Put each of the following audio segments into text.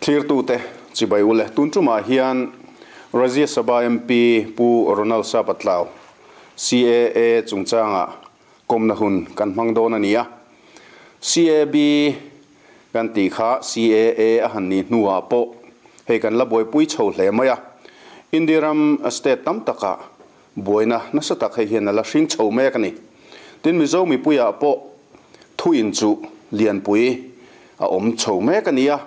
Thlirtute chibai ule tun tumah hian Rajya Sabha MP Pu Ronald Sapatlau CAA chungchanga kawmna hun kan hmang dawn a ni a. CAB kan tih kha CAA a han nih hnuah pawh hei kan la buaipui chho hle mai a. India ram state tam takah buaina nasa tak hei hian a la hring chho mek a ni. Tin Mizo mipuiah pawh thu inchuh lianpui a awm chho mek a ni a.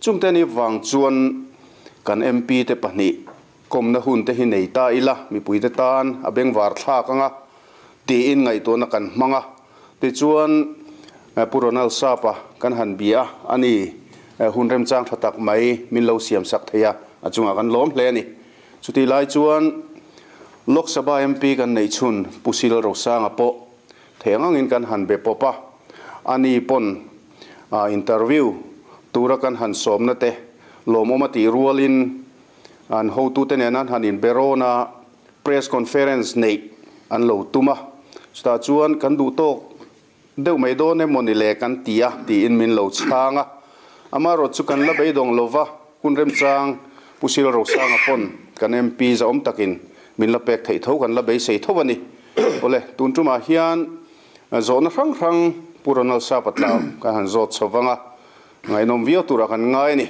Chungte ni vang chuan kan MP te pahnih kawmna hun te hi nei ta ila mipuite tan a bengvar thlak anga tiin ngaihtuahna kan hmang a. Tichuan Pu Ronald Sapa kan han bia a ni. Hun remchang tha tak mai min lo siam sak thei a, a chungah kan lawm hle a ni. Chutih lai chuan Lok Sabha MP kan neih chhun Pu Sil Rosanga pawh thei ang angin kan han be pawp a, ani pawn interview tura kan han sawmna te lawmawm a tih rualin an hotute nen an han inbe rawn a, press conference neih an lo tum a, chutah chuan kan duh tawk deuh mai dawn emaw ni le kan ti a tiin min lo chhang a, amaherawh chu kan la beidawng lova hun remchang Pu Sil Rosanga pawn kan MP zahawm takin min la pek theih tho kan la beisei tho a ni. Awle, tun tumah hian zawhna hrang hrang Pu Ronald Sapatlau kan han zawt chho vang a, ngaihnawm viau turah kan ngai a ni.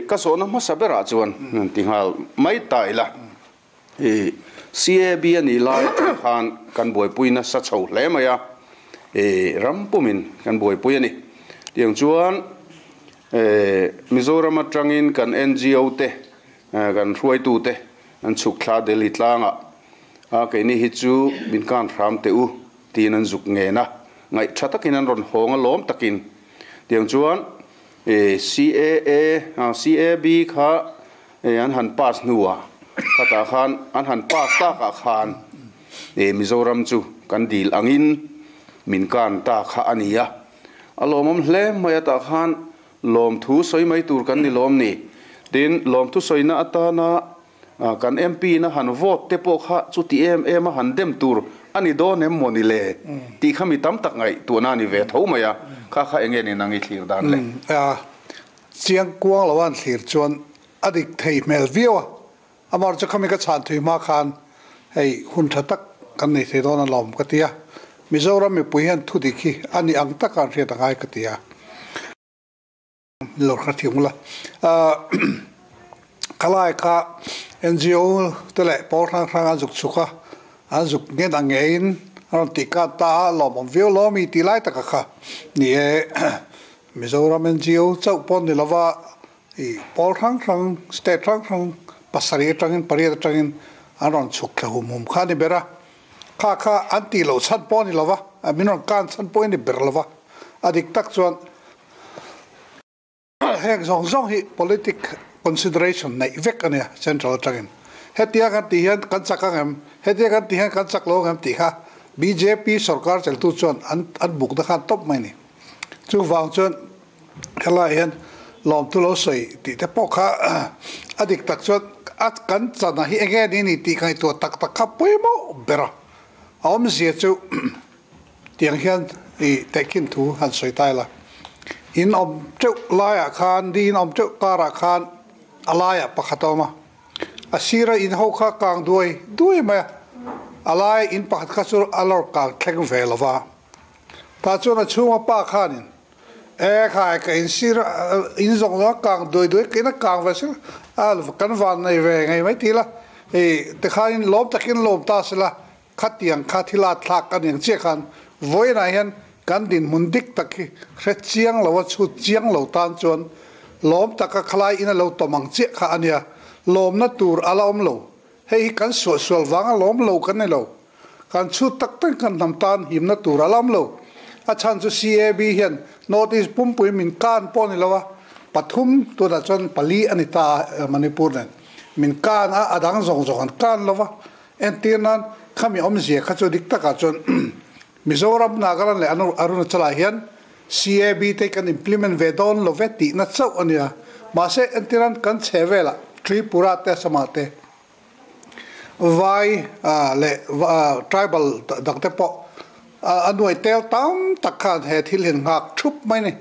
Ka zawhna hmasa berah chuan ti nghal mai ta ila. I CAB a nih lai atang khan kan buaipui nasa chho hle mai a, i ram pumin kan buaipui a ni. Tiang chuan Mizoram atangin kan NGO te, kan hruaitu te an chhuk thla Delhi tlangah a keini hi chu min kan hram teh u tiin an zuk ngen a, ngaih tha takin an rawn hawng a lawm takin. Tiang chuan CAA, CAB kha an han pass hnuah khatah khan an han pass takah khan Mizoram chu kan dil angin min kan ta kha a ni a. A lawmawm hle mai atah khan lawmthu sawi mai tur kan ni lawm ni. Tin, lawmthu sawina atana kan MP in a han vote te pawh kha chuti em em a han dem tur a ni dawn em maw ni le tih kha mi tam tak ngaihtuahna a ni ve tho mai a, kha kha enge ni nang i thlir dan le? Chiang kuang lo an thlir chuan a dik thei hmel viau a, amar chu khami ka chhan thui hma khan hei hun tha tak kan nei thei dawn alawm ka ti a, Mizoram mipui hian thu dik hi a ni ang taka an hriat angai ka ti a. Lo hre thiam ula. Khalai kha NGO te leh pawl hrang hrang an zuk chhuk a, an zuk ngen ang ngeiin an rawn tih khan ta a, lawmawm viau lo ami tih lai taka kha ni e. Mizoram NGO chauh pawh ni lova i pawl hrang hrang, state hrang hrang pasarih atangin pariat atangin an rawn chhuk thla hum hum kha a ni ber a. Kha kha an tih loh chhan pawh a ni lova, min rawn kan chhan pawh a ni ber lova. A dik tak chuan heng zawng zawng hi politic consideration neih vek a nia central atangin. Hetia kan tih hian kan chak ang em? Hetia kan tih hian kan chak lo ang em tih kha bjp sorkar cheltu chuan an an bukna khan tawp mai a ni. Chuvang chuan helaiah hian lawmthu lo sawi tih te pawh kha a dik tak chuan a kan chana hi enge ni ni tih ngaihtuah tak tak kha pawimawh ber a. A awmzia chu tiang hian i tehkhin thu han sawi ta ila. In awm teuh laiah khan, di in awm teuh karah khan a laiah pakhat a awm a. A sira in ho kha kang duai duai mai a, a lai in pakhat kha chu a lawr kang thleng ve lo va. Tah chuan a chhunga pa khanin, E khai, ka in sir in zawng zawng a kang duai duai ka in a kang ve sir a, kan van nei ve ngei mai ti la, hei tikhanin lawm takin lawm ta se la, khatiang kha thil a thlak a niang chiah khan vawiinah hian kan dinhmun dik tak hi hre chiang lo a chhut chiang lo tan chuan lawm taka khalai in a lo tawm ang chiah kha a nia, lawmna tur a la awm lo, hei hi kan suahsual vanga lawm lo kan ni lo. Kan chhut tak tak kan hnam tan himna tur a lam lo. A chhan chu CAB hian North East pumpui min kan pawh a ni lo a, pathum tunah chuan pali a ni ta a Manipur nen min kan a, a dang zawng zawng an kan lo va. Entir nan khami awmzia kha chu dik takah chuan Mizoram, Nagaland leh Arunachal ah hian CAB te kan implement ve dawn lo ve tihna chauh a nia. Mahse entir nan kan chhe velah Tripura te Assam-ah te Vai leh tribal dang te pawh a nuai tel tam tak khan he thil hi an nghak thup mai a ni.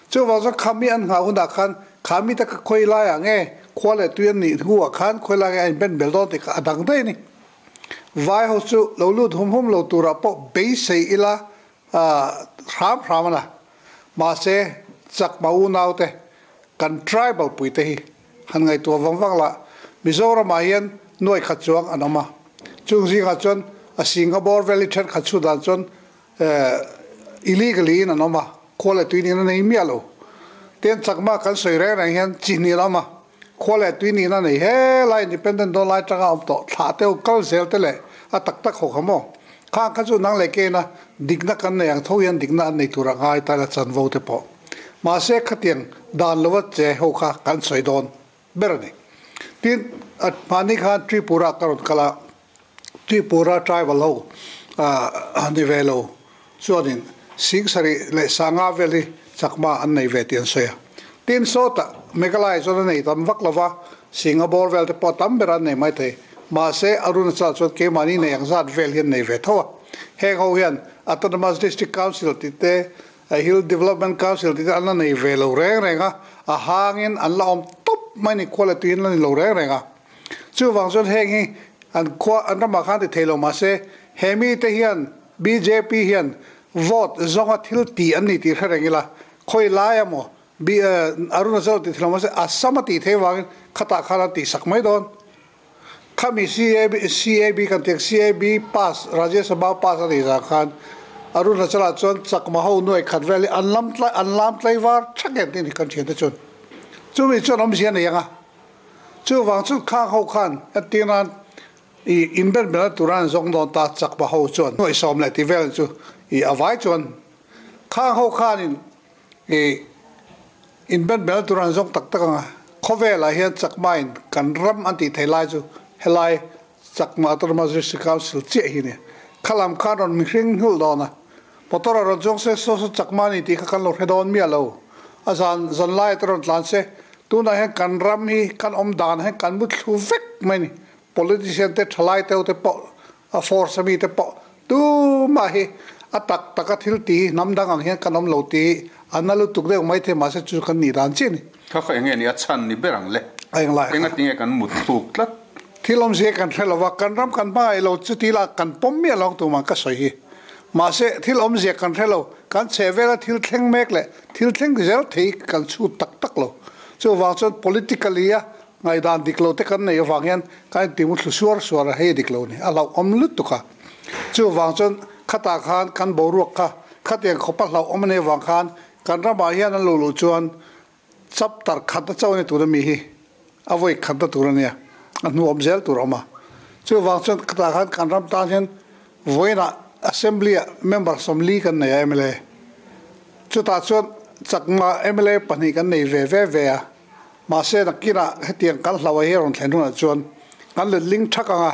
Chuvang chuan khami an nghah hunah khan Kha mi te kha khawi laiah nge khua leh tui an nih hnuah khan khawi lai nge a inben bel dawn tih kha a dang daih a ni. Vai ho chu lo lut hum hum lo turah pawh beisei ila hram hram a na. Mahse, chakma unaute kan tribal puite hi han ngaihtuah vang vang lah Mizoramah hian nuai khat chuang an awm a. Chung zingah chuan a Singapore Valley thenkhat chhut dan chuan illegally in an awm a, khua leh tui nihna nei miah lo. Tin, chakma kan sawi reng reng hian chi hnih an awm a, khua leh tui nihna nei helai independent dawn lai atanga awm tawh thlah te kal zel te leh a tak tak ho kha maw? Khang kha chu nang leh keina dikna kan nei ang tho hian dikna an nei tur a ngai ta ila chanvo te pawh. Mahse khatiang dan lova che ho kha kan sawi dawn ber a ni. Tin, mahni khan Tripura ka rawn kal a, Tripura tribal ho ni ve lo chuanin Singsarih leh Sanga vel hi chakma an nei ve tih an sawi a. Tin, sawtah Meghalaya chuan a nei tam vak lo va, Singapore vel te pawh tam ber an nei mai thei. Mahse, Arunachal chuan keimahni nei ang zat vel hi an nei ve tho a. Heng ho hian Autonomous District Council tih te, Hill Development Council tih te an la nei ve lo reng reng a, a hangin an la awm tawp mai ni, khua leh tuiin la ni lo reng reng a. Chuvang chuan heng hi an khua an ramah khan ti thei lo mahse he mite hian bjp hian vote zawnga thil ti an ni tih hre reng ila khawi lai emaw Arunachal ti thei lo mahse Assam a tih theih vangin khatah khan an tihsak mai dawn. Khami CAB CAB kan tih ang CAB pass Rajya Sabha pass a nih zah khan Arunachal ah chuan chakma ho nuai khat vel hi an lam tlai an lam tlaivar thak em tih a ni kan thiante chuan chumi chuan awmzia a nei ang a. Chuvang chu khang ho khan entirnan i inben bela tura an zawng dawn ta chakma ho chuan nuaihsawm leh tih vel chu i a vai chuan khang ho khanin i inben bela tura an zawng tak tak ang a, khawvelah hian chakma in kan ram an tih theih lai chu helai Chakma Autonomous District Council chiah hi a ni. Khalam khan rawn mihring hnulh dawn a, motor a rawn chuang se saw saw Chakma a ni tih kha kan lo hre dawn miah lo. A zan zan lai te rawn tlan se, tunah hian kan ram hi kan awm dan hian kan mu thlu vek mai a ni. Politician te thalai teu te pawh, a force ami te pawh tumah hi a tak taka thil ti hi hnam dang ang hian kan awm lo tih hi a na lutuk deuh mai thei mahse chu kan nih dan chiah a ni. Kha kha enge ni a chhan ni ber ang le? A englai kha. Engatinge kan mut thluk tlat? Thil awmzia kan hre lo va, kan ram kan hmangaih lo chuti lah kan pawm miah lo ang tumah ka sawi hi. Mahse, thil awmzia kan hre lo, kan chheh vela thil thleng mek leh thil thleng zel thei kan chhut tak tak lo. Chuvang chuan politically a ngaihdan dik lo te kan neih avang hian kan inti muthlu suar suar a, hei a dik lo ni, a hlauhawm lutuk a. Chuvang chuan khatah khan kan boruak kha khatiang khawpa hlauhawm a nih avang khan kan ramah hian an lo luh chuan Chapter khat a cho ni tur a mi hi a vawi khat na tur a nia, a hnu awm zel tur a awm a. Chuvang chuan khatah khan kan ram tan hian vawiinah Assembly ah member 40 kan nei a mla. Chutah chuan chakma mla pahnih kan nei ve ve ve a, mahse nakinah hetiang kan hlauh a hi a rawn thlen hunah chuan kan letling thak ang a,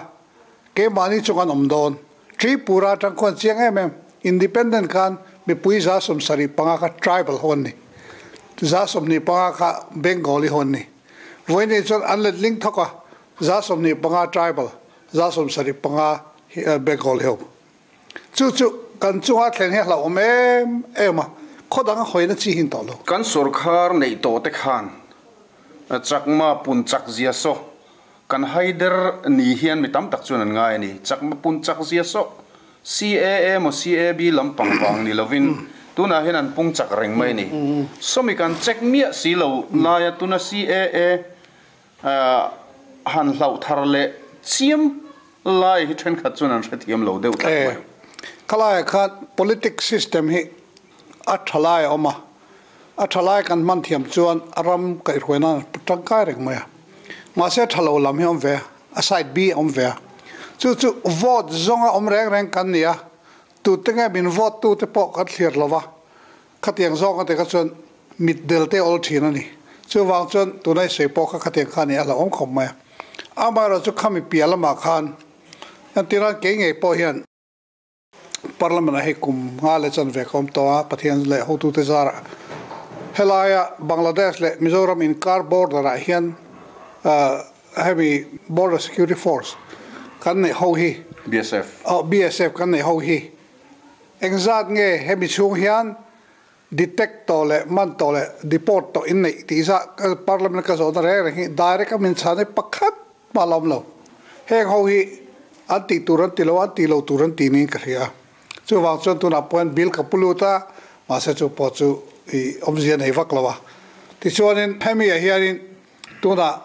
keimahni chu kan awm dawn. Tripura atang khuan chiang em em, independent khan mipui 75 kha tribal ho an ni, 25 kha Bengali ho an ni. Vawiinei chuan an letling thawk a, 25 tribal, 75 Bengali ho. Chu chu kan chunga thlen hi a hlauhawm em em a, khaw dang a hawina chi hin tawh lo. Kan sawrkhar neih tawh te khan chakma pun chak zia saw Kan haider ni hian mi tam tak chuan an ngai a ni. Chakma pun chak zia sawh CAA emaw CAB lampang vang ni lovin tunah hian an pung chak reng mai a ni. Sawmi kan check miah si lo laia tuna CAA han hlauh thar leh chiam lai hi thenkhat chuan an hrethiam lo deuh tlat mai. Khalaiah khan politics system hi a tha lai a awm a, A tha lai kan hman thiam chuan a ram kaihhruai nan a tangkai reng mai a. Mahse a tha lo lam hi a awm ve a, a side B a awm ve a. Chu chu vote zawnga awm reng reng kan ni a, tute nge min vote tute pawh kan thlir lo va, khatiang zawng a ti kha chuan mit del te awl thin a ni. Chuvang chuan tuna i sawi pawh kha khatiang kha a ni a hlauhawm khawp mai a. Amaherawhchu khami piah lamah khan entirnan kei ngei pawh hian, Parliament ah hei kum nga leh chanve ka awm tawh a, Pathian leh hotute zarah helaia Bangladesh leh Mizoram inkar border ah hian hemi Border Security Force kan neih ho hi BSF aw BSF kan neih ho hi engzat nge hemi chhung hian. detect tawh leh man tawh leh deport tawh in neih tih zah parliament ka zawhna reng reng hi direct a min chhan hi pakhat mah la awm lo. Heng ho hi an tih tur an ti lo a, an tih lo tur an ti niin ka hria. Chuvang chuan tunah pawh hian bill ka pu lut a, mahse chu pawh chu i awmzia nei vak lo a. Tichuanin hemi ah hianin tunah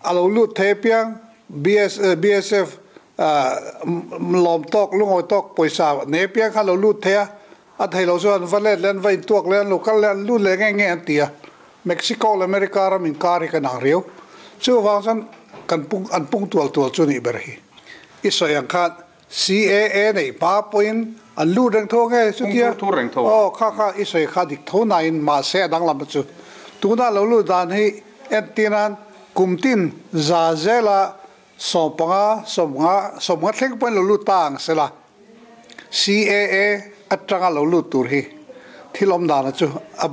a lo lut thei apiang BS BSF lawm tawk lungawi tawk pawisa nei apiang kha a lo lut thei a, a thei lo chuan an va let leh an va intuak leh an lo kal leh an lut leh nge nge an ti a. Mexico leh America ram inkar hi kan ang riau. Chuvang chuan kan pung an pung tual tual chu nih ber hi. I sawi ang khan CAA neih hma pawhin an lut reng tho nge chutia? Pung thur thur reng tho. Aw, kha kha i sawi kha dik tho nain mahse a danglam chu tuna lo lut dan hi entirnan kum tin za zela 15, 50, 50 thleng pawhin lo lut ta ang sela CAA atanga lo lut tur hi thil awm dana chu a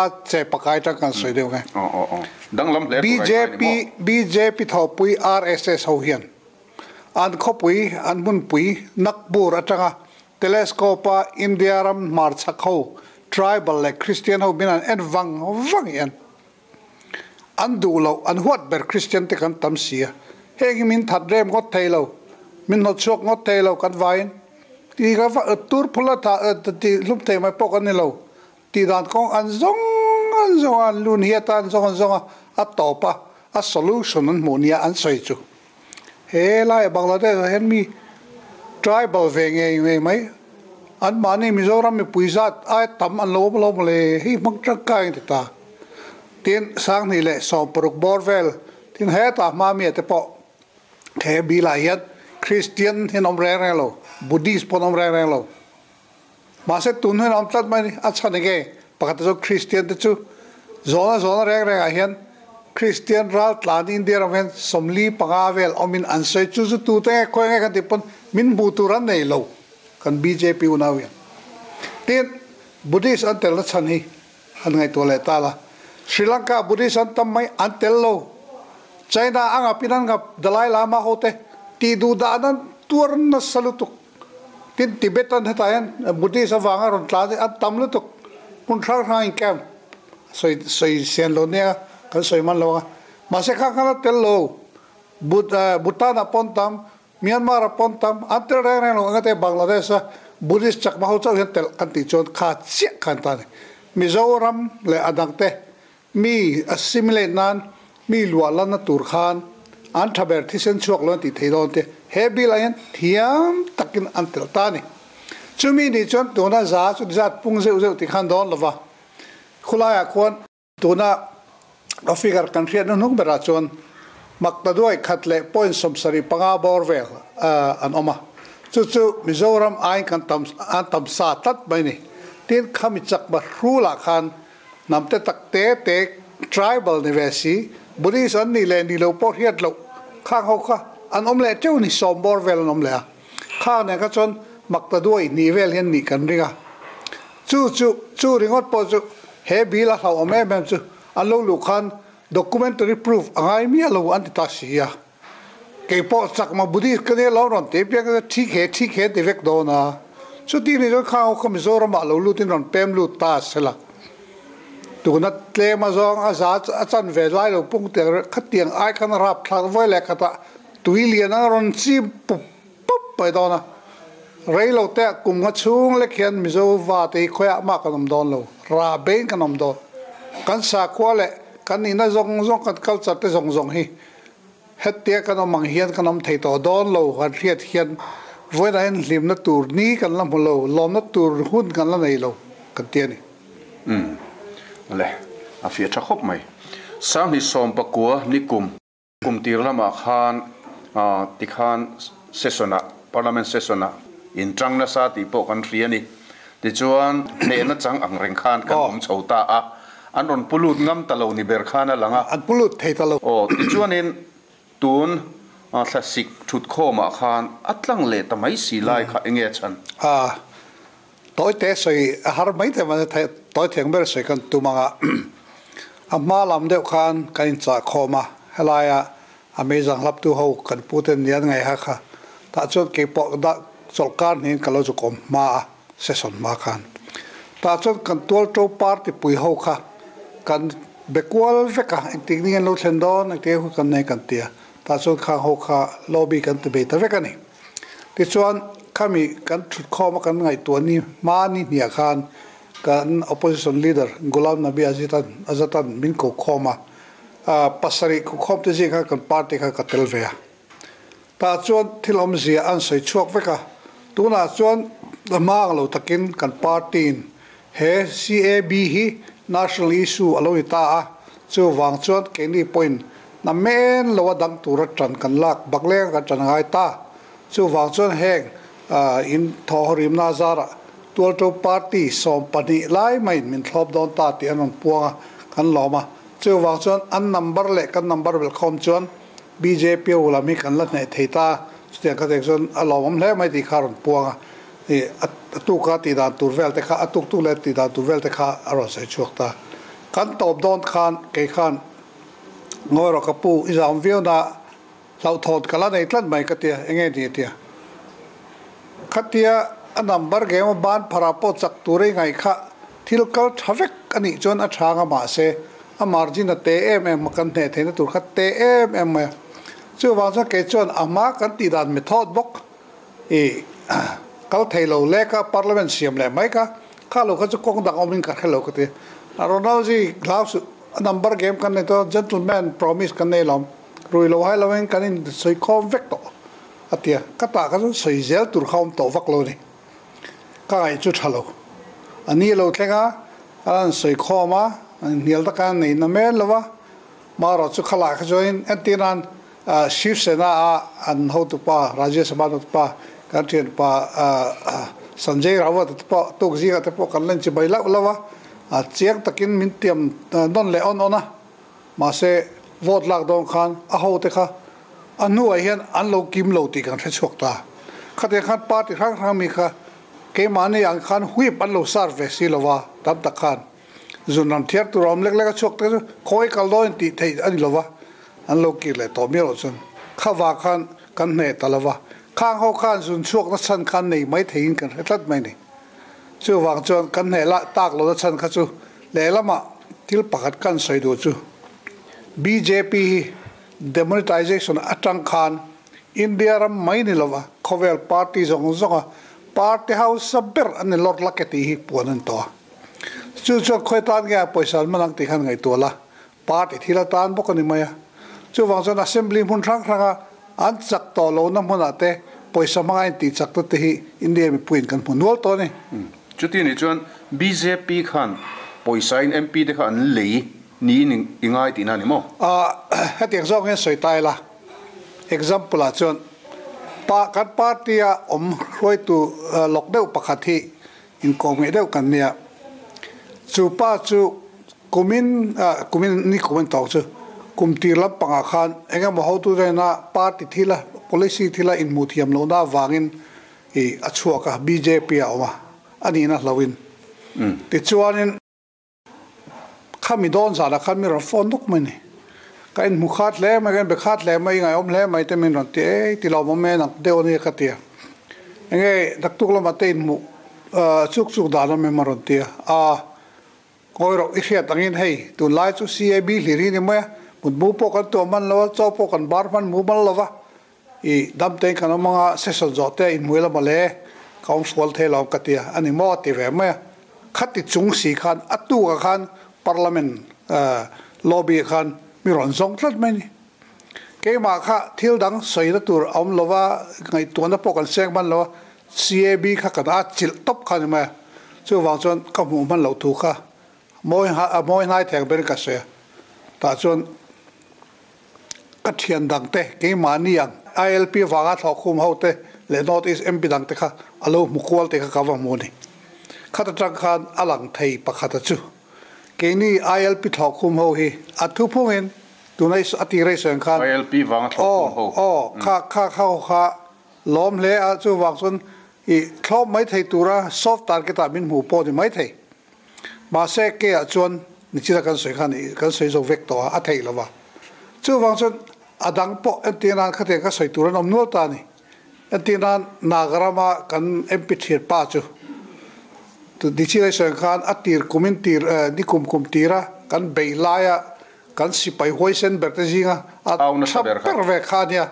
a che pakai atang kan sawi deuh nge. Aw aw aw. Danglam hle tur a ingai ni maw? BJP thawhpui RSS ho hian An khawpui, an hmunpui Nagpur atanga telescope-a India ram hmarchhak ho, tribal leh Christian ho min an en vang vang hian an duh loh, an huat ber Christian te kan tam si a. Heng hi min that rem ngawt thei lo, min hnawt chhuak ngawt thei lo kan vaiin ti ka tur phul a tih hlum thei mai pawh kan ni lo. Tih dan kawng an zawng an zawng a, an lun hi atan zawng an zawng a, a tawp a, a solution an hmuh nia an sawi chu. He lai Bangladesh ah hian mi tribal ve ngei ngei mai, an mahni Mizoram mipui zat ai tam an lo awm lo mawle, hei hmang tangkai an ti ta. Tin, 2016 bawr vel, tin hetah hma mi ah te pawh he bill ah hian Christian hi an awm reng reng lo, Buddhist pawh an awm reng reng lo. Mahse tun hun a awm tlat mai a ni. A chhan enge? Pakhat te chu Kristian te chu zawna zawna reng rengah hian Kristian ral tlan India ram hian 45 vel awmin an sawi. Chu chu tute nge khawi nge kan tih pawn min hmuh tur an nei lo kan bjp unau hian. Tin, Buddhist an telna chhan hi han ngaihtuah leh ta la. Sri Lanka Buddhist an tam mai an tel lo. China a ngapin an ngap Dalai Lama ho te tih duh dan an tuar nasa lutuk. Tin, Tibetan hetah hian Buddhist avanga rawn tlan hi an tam lutuk. Hmun hrang hrang in camp sawi sawi sian lo nia kan sawi man lo ang a. Mahse kha khan a tel lo. Bhutan ah pawn tam, Myanmar ah pawn tam, an tel reng reng lo. Engate Bangladesh a Buddhist chakma ho chauh hian tel kan tih chuan kha chiah khan ta a ni. Mizoram leh a dangte Mi assimilate nan mi luah lanna tur khan an tha ber thisen chhuak lo an tih thei dawn te he bill ah hian thiam takin an telh ta a ni. Chumi nih chuan tuna za chu zat pung zeuh zeuh tih khan dawn lova khulaiah khuan tuna a figure kan hriat hnuhnung berah chuan maktaduai khat leh point 75 bawr vel an awm a, chu chu Mizoram aiin kan tam an tam sa tlat mai a ni. Tin, khami chakma hrulah khan Hnam te tak te te tribal ni ve si, Buddhist an nih leh nih lo pawh hriat loh khang ho kha an awm leh teuh ni, sawm bawr vel an awm leh a. Khang nen kha chuan makta duai hnih vel hian nih kan ring a. Chu chu chu ringawt pawh chu he bill a hlauhawm em em chu an lo luh khan documentary proof a ngai miah lo an ti ta si a. Kei pawh chakma Buddhist ka nia lo rawn ti piang kha thik he thik he ti vek dawn a. Chuti ni chuan khang ho kha Mizoram ah lo lut in rawn pem lut ta a sela. Tuna tlem a zawng a za a chan ve lai lo pung tiang khatiang ai khan a rap thlak vawi leh khatah tui lian ang a rawn chim pup pup mai dawn a. Rei lo te ah kum nga chhung lek hian Mizo va te hi khawiah mah kan awm dawn lo, ra bein kan awm dawn. Kan sakhua leh kan nihna zawng zawng kan culture te zawng zawng hi Hetia kan awm ang hian kan awm thei tawh dawn lo, kan hriat hian vawiinah hian hlimna tur ni kan la hmu lo, lawmna tur hun kan la nei lo kan ti a ni. Umm le, a fiah tha khawp mai. 2019 ni kum kum tir lamah khan tikhan session ah, parliament session ah inṭang nasa tih pawh kan hria a ni. Tichuan hnehna chang ang reng khan kan awm chho ta a. An rawn pu lut ngam ta lo ni ber khan a lang a. An pu lut thei ta lo. Aw, tichuanin tun thlasik thutkhawmah khan a tlang leh ta mai si lai kha enge a chhan? A, tawi te sawi a har mai thei mahse tawi theng ber sawi kan tum ang a. A hma lam deuh khan kan inchah khawm a, helaia a meizang hlaptu ho kan pu ten nia an ngaiha kha tah chuan keipawh dah chawlhkar hnihin ka lo zuk awm hma a, session hma khan. Tah chuan kan tualto party pui ho kha kan be kual vek a, engtik ni an lo thlen dawn, engtik hun kan nei kan ti a, tah chuan khang ho kha lobby kan ti bei ta vek a ni. Tichuan khami kan thut khawm a kan ngaihtuah ni hma ni hniah khan kan opposition leader Ghulam Nabi Azad Azad-a'n min ko khawm a, pasarih ko khawm te zing khan kan party kha ka tel ve a. Tah chuan thil awmzia an sawi chhuak vek a, tunah chuan hma ang lo takin kan party-in he CAB hi national issue a lo ni ta a, chuvang chuan keini pawhin na men lo a dang tura tan kan lak bak leng kan tan ngai ta. Chuvang chuan heng in thawhrimna zarah Tualto party 12 lai maiin min thlawp dawn ta tih an rawn puang a, kan lawm a. Chuvang chuan an number leh kan number belhkhawm chuan bjp ho lam hi kan la hneh thei ta, chutiang kha tek chuan a lawmawm hle mai tih kha a rawn puang a, ih a tuka tih dan tur vel te kha a tuk tuk leh tih dan tur vel te kha a rawn sawi chhuak ta. Kan tawp dawn khan kei khan ngawi rawh ka pu i zam viau na hlauhthawn ka la nei tlat mai ka tia, enge ni tia. Khatia a number game a ban pharah pawh chak tur i ngaih kha thil kal tha vek a nih chuan a tha anga mahse a margin a te em em a kan hneh theihna tur kha te em em mai a. Chuvang chuan kei chuan a hma kan tih dan method bawk i kal thei lo lek a parliament siam leh mai kha kha lo kha chu kawng dang awmin ka hre lo ka ti a. Ronald-ji hlau suh a number game kan nei tawh a gentleman promise kan nei lo rui lo hai lovin kan in sawi khawm vek tawh. A ti a, ka tah kha chuan sawi zel tur kha awm tawh vak lo a ni. Ka ngaih chu tha lo. A ni lo thleng a, a rawn sawi khawm a, hnial taka a nei na mel lo va. Marawh chu khalah kha chuanin entir nan Shiv Sena a an hotupa, Rajya Sabha hotupa, kan thianpa Sanjay Rawat te pawh tuk zingah te pawh kan la inchibai lauh lauh a, a chiang takin min tiam nawn leh awn awn a. Mahse, vote lak dawn khan a hote kha a hnuah hian an lo kim lo tih kan hre chhuak ta. Khatiang khan party hrang hrang mi kha keimahni ang khan whip an lo serve ve si lova, tam tak khan zun ram thiar tur a awm lek lek a chhuak te chu khawi kal dawn tih theih a ni lova, an lo kir leh tawh miah loh chuan kha vang khan kan hneh ta lova. Khang ho khan zun chhuakna chhan khan nei mai theiin kan hre tlat mai ni. Chuvang chuan kan hneh lah tak lohna chhan kha chu lehlamah thil pakhat kan sawi duh chu bjp hi demonetization atang khan India ram mai ni lova khawvel party zawng zawnga party hausa ber an ni lawr lak e tih hi puan an tawh a. Chu chuan khawi tan nge a pawisa an man ang tih khan ngaihtuah la party thil atan bawk a ni mai a. Chuvang chuan assembly hmun hrang hranga an chak tawh lohna hmunah te pawisa hmanga intih chak te te hi India mipuiin kan hmu nual tawh a ni. Chuti nih chuan bjp khan pawisain MP te kha an lei niin i ngai tihna a ni maw? Hetiang zawk hian sawi ta ila, example ah chuan pa kan party a awm hruaitu lawk deuh pakhat hi inkawm ngeih deuh kan nia. Chu pa chu Kumin, kumin ni kum an tawk chu kum tir lampangah khan eng emaw hotu hnena party thila, policy thila inhmuh thiam lohna avangin ih a chhuak a, bjp a awm a, a nihna hlauhin. Tichuanin khami dawn zanah khan min rawn phone nawk mai a ni. Ka inhmu khat hle mai, ka inbe khat hle mai, i ngaihawm hle mai te min rawn ti, ei ti lo awm e nak deuh a nia ka ti a. Enge naktuk lamah te inhmuh chuk chuk dan awm em a rawn ti a, aa. Ngawi rawh, i hriat angin hei tunlai chu CAB hlir hi ni mai a, mutmu pawh kan tuah hman lo a, chaw pawh kan bar hman mumal lo va, i damtein kan awm anga session zawh te a inhmui lam ale, ka awm fual thei lo ang ka ti a, a ni maw a ti ve mai a. Khati chung si khan a tukah khan Parliament lobby ah khan mi rawn zawng tlat mai a ni. Keimah kha thil dang sawina tur a awm lo va, ngaihtuahna pawh kan seng hman lo a, CAB kha kan a chilh tawp kha a ni mai a, chuvang chuan ka hmuh hman loh thu kha mawi a mawi hnai thei ang berin ka sawi a, tah chuan ka thian dang te keimahni ang ILP vanga thlawhkhum ho te leh North East MP dang te kha a lo hmu kual tih kha ka va hmu a ni. Khat atang khan a lang thei pakhat a chu keini ILP thlawhkhum ho hi a thuphungin tuna a tir a i sawi ang khan ILP vanga thlawhkhum ho. Aw aw kha kha kha ho kha Lawm hle a, chuvang chuan i thlawp mai thei tura soft target ah min hmuh pawh ni mai thei. Mahse ke ah chuan nichina kan sawi khan i kan sawi zo vek tawh a, a theih lo va. Chuvang chuan a dang pawh entir nan khatiang ka sawi tur an awm nual ta a ni. Entir nan Naga rama kan MP thian pa chu Ni chin ai sawi khan a tir kumin tir nikum kum tira kan bei laia kan sipai huaisen ber te zinga a tha ber ve kha ania.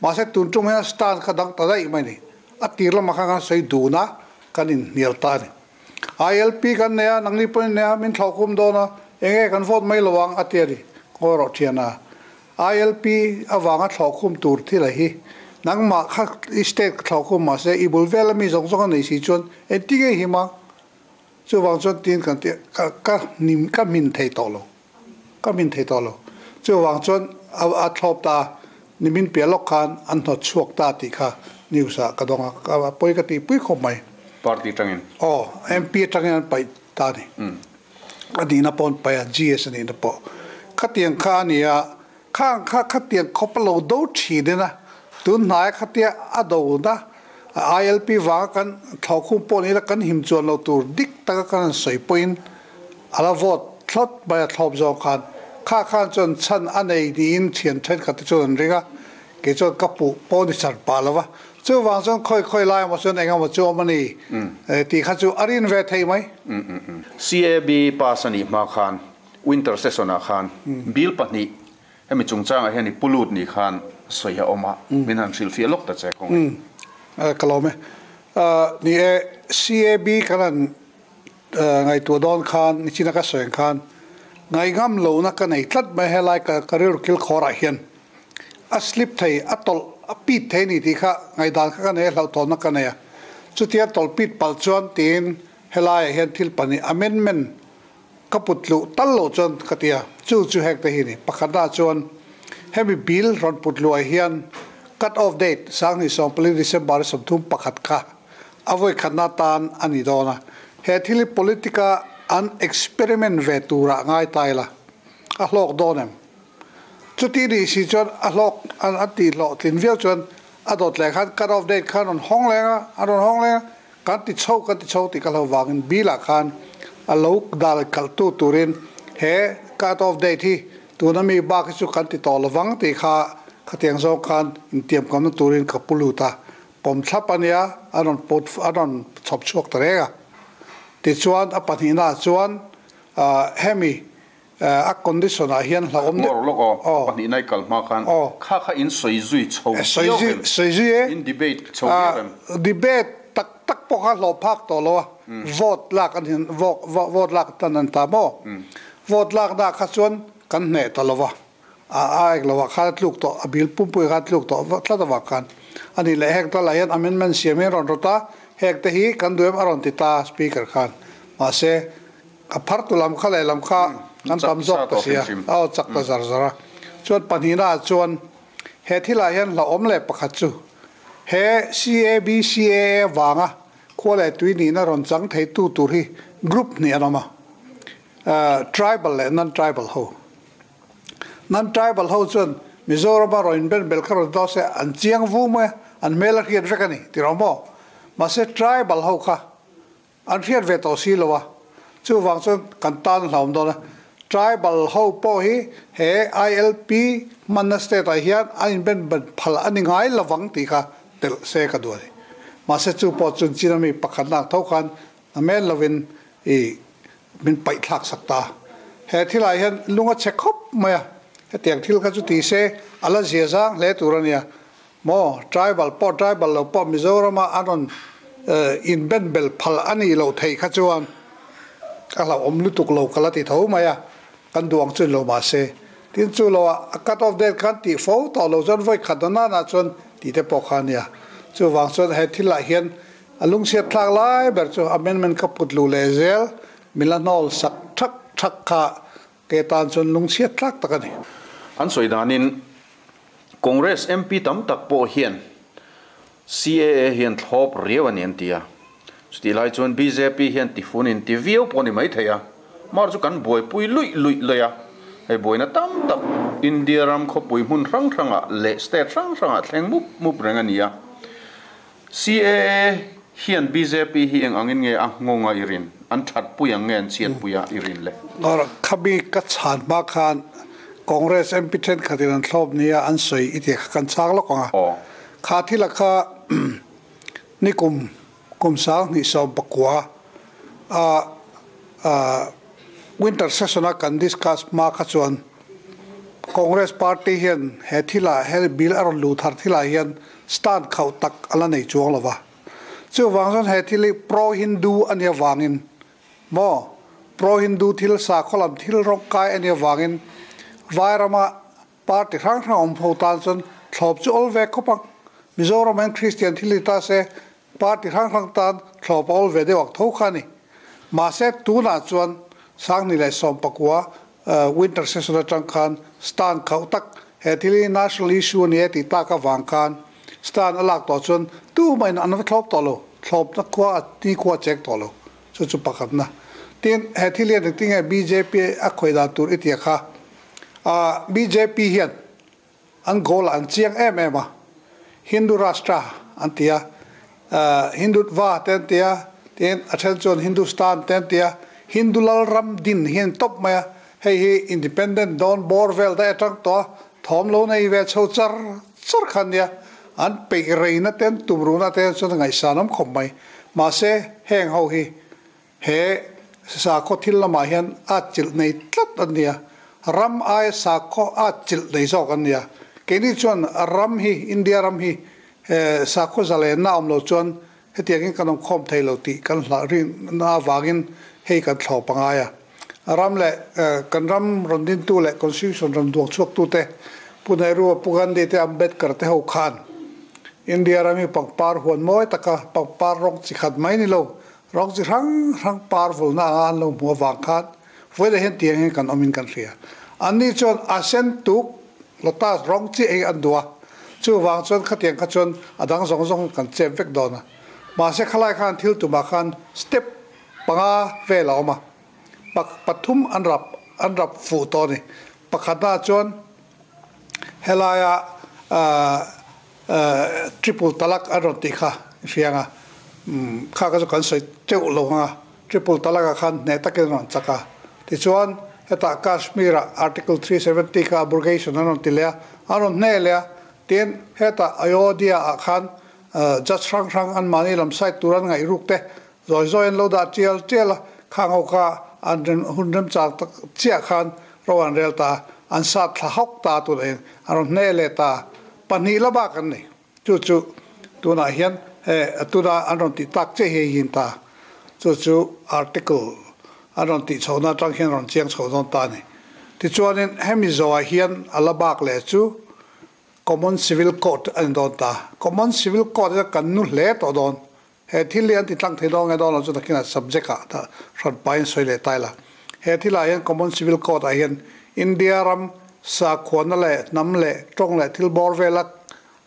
Mahse tun tum hian stand kha dang ta daih mai ni. A tir lamah khan kan sawi dun a, kan inhnial ta a ni. ILP kan nei a, nangni pawhin in nei a, min thlauhkhum dawn a, enge kan vote mai lo ang a ti a ni. Ngawi rawh thian a. ILP avanga thlauhkhum tur thil a hi. Nangmah kha i state ka thlauhkhum mahse i bul vela mi zawng zawng a nei si chuan engtin nge i him ang? Chuvang chuan tin kan ti ka ka hnim ka hmin thei tawh lo. Ka hmin thei tawh lo. Chuvang chuan a a thlawp ta nimin piah lawk khan an hnawt chhuak ta tih kha news ah ka dawng a, ka pawi ka tihpui khawp mai. Party atangin? Aw, MP atangin an paih ta a ni. A nihna pawh an paih a, GS a nihna pawh. Khatiang kha a ni a, khang kha khatiang khawp a lo do thin in a, tun hnaia khatia a do na ILP vanga kan thlawhkhum pawh ni ila kan him chuan lo tur dik taka kan han sawi pawhin a la vote thlawt mai a thlawp zawng khan kha khan chuan chhan a nei niin thian thenkhat te chuan an ring a, kei chuan ka puh pawh ni char pah lo va, chuvang chuan khawi khawi lai emaw chuan eng emaw chu awm a ni tih kha chu a rin ve thei mai. CAB pass a nih hma khan Winter session ah khan bill pahnih hemi chungchangah hian i pu lut ni khan sawi a awm a, min han hrilhfiah lawk ta che kawng e. Ka lawm e. Ni e, CAB kan han ngaihtuah dawn khan nichina ka sawi ang khan ngaihngam lohna ka nei tlat mai helai ka rilru kil khawrah hian a slip thei, a tawlh, a pit thei a ni tih kha ngaihdan kha ka nei a, hlauhthawnna ka nei a. Chutia tawlh pit palh chuan tiin helaiah hian thil pahnih amendment Ka put luh tal loh chuan ka ti a, chu chu hek te hi ni. Pakhatna chuan hemi bill rawn put luh ah hian cut off date 2014 December 31 kha a vawi khatna tan a ni dawn a. He thil hi politic-a an experiment ve turah ngai ta ila a hlawk dawn em? Chuti nih si chuan a hlawk an tih hlawhtlin viau chuan a dawt leh khan cut off date kha an rawn hawng leng a, an rawn hawng leng a. Kan ti chho, kan ti chho tih ka hlo vangin bill ah khan a lo dal kalh tu turin he cut off date hi tuna mi bak hi chu kan ti tawh lovang tih kha khatiang zawng khan intiamkamna turin ka pu lut a, pawm thlap a nia, a rawn put a rawn chhawp chhuak ta reng a. Tichuan a pahnihna ah chuan hemi A condition ah hian hlauhawm deuh. Ngawr lawk aw, pahnihna i kal hma khan kha kha in sawi zui chho viau em? Sawi zui e. In debate chho viau em? Debate tak tak pawh kha hlawh phak tawh lo a, vote lak an hin vote lak tan an ta maw? Vote lak na kha chuan kan hneh ta lo va, a ek lo ah khan a tluk tawh, a bill pumpui khan a tluk tawh tlat avang khan a nih leh hek tal ah hian amendment siam hi an rawn rawt a, hek te hi kan duh em a rawn ti ta speaker khan, mahse A phartu lam kha leh lam kha an tam zawk ta sia, a aw chak ta zar zar a. Chuan pahnihna ah chuan he thilah hian hlauhawm leh pakhat chu he CABCAA vanga khua leh tui nihna rawn chang theitu tur hi group hnih an awm a, tribal leh non-tribal ho. Non-tribal ho chuan Mizorama rawn inben bel kha rawn daw se an chiang vu mai a, an hmel a hriat vek a ni ti rawh maw? Mahse tribal ho kha An hriat ve tawh si lo a, chuvang chuan kan tan a hlauhawm dawn a. Tribal ho pawh hi he ILP hmanna state ah hian an inben ban phal a ni ngai lovang tih kha telh se ka duh a ni. Mahse chu pawh chuan China mi pakhat nak tho khan a men lovin i min paih thlak sak ta. He thilah hian lung a chhe khawp mai a, hetiang thil kha chu ti se a la zia zang hle tur a nia. Maw, tribal pawh tribal lo pawh Mizorama an rawn inben bel phal a nih loh theih kha chuan ka hlauhawm lutuk lo ka la ti tho mai a, kan duh ang chu ni lo mahse. Tin chu lo ah a cut off date khan tih fo tawh lo chuan vawi khat na nana chuan tih te pawh kha a nia. Chuvang chuan he thil ah hian a lungchhiat thlak lai ber chu amendment ka put luh leh zel min la hnawl sak thak thak kha Ke tan chuan lungchhiat tlak tak a ni. An sawi danin Congress MP tam tak pawh hian CAA hian thlawp riau a ni an ti a. Chutih lai chuan bjp hian tifunin ti viau pawh a ni mai thei a. Mar chu kan buaipui luih luih luih a. Hei buaina tam tak India ram khawpui hmun hrang hrangah leh state hrang hrangah thleng mup mup reng a ni a. CAA hian bjp hi eng angin nge a nghawng a i rin? An that pui ang nge an chhiat pui a i rin le? Khami ka chhan hma khan Congress MP thenkhatin an thlawp nia an sawi i tih kha kan chhang lawk ang a. Kha thila kha nikum kum 2019 A winter session a kan discuss hma kha chuan Congress party hian he thilah he bill a rawn luh thar thilah hian stand khauh tak a la nei chuang lo va. Chuvang chuan he thil hi pro-Hindu a nih avangin maw pro-Hindu thil sakhaw lam thil rawng kai a nih avangin Vairama Party hrang hrang awm ho tan chuan thlawp chu awl ve khawp ang. Mizoram hian Kristian thil ni ta se party hrang hrang tan thlawp a awl ve deuh ang tho kha a ni. Mahse tunah chuan 2019 winter session atang khan stand khauh tak he thil hi national issue a ni e tih tak avang khan stand a lak tawh chuan tumahin an va thlawp tawh lo, thlawpna khua a ni khua a cheng tawh lo. Chu chu pakhatna. Tin, he thil hian engtin nge bjp a khawih dan tur i tia kha? A bjp hian an goal ah an chiang em em a, Hindu Rashtra an ti a, Hindutva te an ti a, tin a then chuan Hindustan te an ti a, Hindu Lalram din hi an tawp mai a, hei hi independent dawn bawr vel daih atang tawh a, thawm lo nei ve chho char char kha ania, an peih reina te an tum ruhna te chuan a ngaihsan awm khawp mai. Mahse heng ho hi He sakhaw thil lamah hian atchilh nei tlat an nia, ram aia sakhaw atchilh nei zawk an nia. Keini chuan ram hi, India ram hi sakhaw zalenna awm lo chuan hetiangin kan awmkhawm thei lo tih kan hlah rinna avangin hei kan thlawp a ngai a. Ram leh kan ram rawn dintu leh Constitution rawn duang chhuaktute Pu Nehru, Pu Gandhi te Ambedkar te ho khan India ram hi pangpar huan mawi taka pangpar rawng chi khat mai ni lo Rawng chi hrang hrang par vulna anga an lo hmuh avang khan vawilah hian tiang hian kan awmin kan hria. Anni chuan a sen tuk lotus rawng chiah hi an duh a, chuvang chuan khatiang kha chuan a dang zawng zawng kan chep vek dawn a. Mahse khalai khan thil tumah khan step panga vel a awm a, pathum an rap an rap fuh tawh a ni. Pakhatnaah chuan helaia Triple talak an rawn tih kha i hria ang a, kha kha chu kan sawi teuh lo ang a, triple talak ah khan hneh takin an rawn chak a. Tichuan hetah Kashmir ah Article 370 kha abrogation an rawn ti leh a, an rawn hneh leh a, tin hetah Ayodhya ah khan judge hrang hrang an mahni lam side tur an ngaih ruk te zawi zawi an lo dah tial tial a, khang ho kha an hun remchang tak chiah khan ro an rel ta a, an sat thla hawk ta tunah hian an rawn hneh leh ta. Pahnih la bak an nei. Chu chu tunah hian he tuna an rawn tih tak chiah hi a hin ta. Chu chu article an rawn tih chhohna atang hian rawn chiang chho dawn ta a ni. Tichuanin hemi zawhah hian a la bak leh chu Common Civil Code a ni dawn ta. Common Civil Code hi kan nu hle tawh dawn. He thil hi an ti tlang thei dawn nge dawn lo chu takin a subject ah ta hran pahin sawi leh ta ila. He thil ah hian Common Civil Code ah hian India ram sakhuana leh hnam leh tawng leh thil bawr vela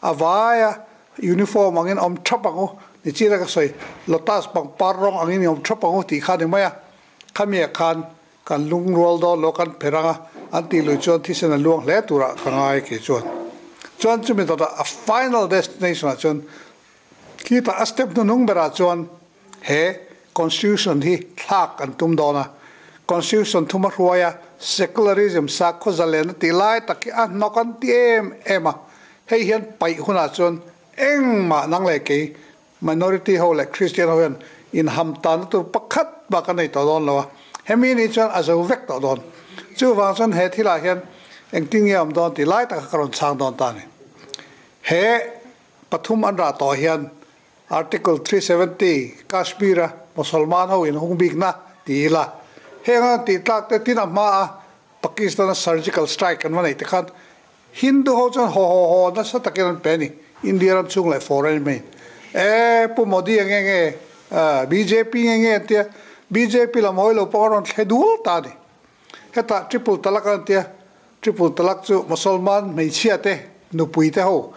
a vaia uniform angin awm thap ang u ni chin a ka sawi lotus pangpar rawng angin i awm thap ang u tih kha a ni mai a. Khami ah khan kan lungrual dawn lo kan pher ang a, an tih lui chuan thisen a luang hle turah ka ngai kei chuan. Chuan chumi dawtah a final destination ah chuan Khitah a step hnuhnung berah chuan he Constitution hi thlak an tum dawn a. Constitution thuma hruaia secularism sakhaw zalen a tih lai tak hi a hnawk an ti em em a. Hei hian paih hunah chuan engmah nang leh kei minority ho leh Christian ho hian inham tanna tur pakhat bak a nei tawh dawn lo a. Hemi ni chuan a zo vek tawh dawn. Chuvang chuan he thilah hian engtin nge awm dawn tih lai taka ka rawn chhang dawn ta a ni. He Pathum an rah tawh hian Article 370 Kashmir a Mosolman ho in hung bikna ti ila heng an tih tlak te tin a hma a Pakistan a surgical strike an va neih te khan Hindu ho chuan haw haw haw nasa takin an pe a ni India ram chhung leh foreign main e Pu Modi a nge nge bjp nge nge an tia bjp lam hawi lo pawh a rawn thle dul ta a ni hetah triple talak an tia Triple talak chu Mosolman hmeichhia te nupui te ho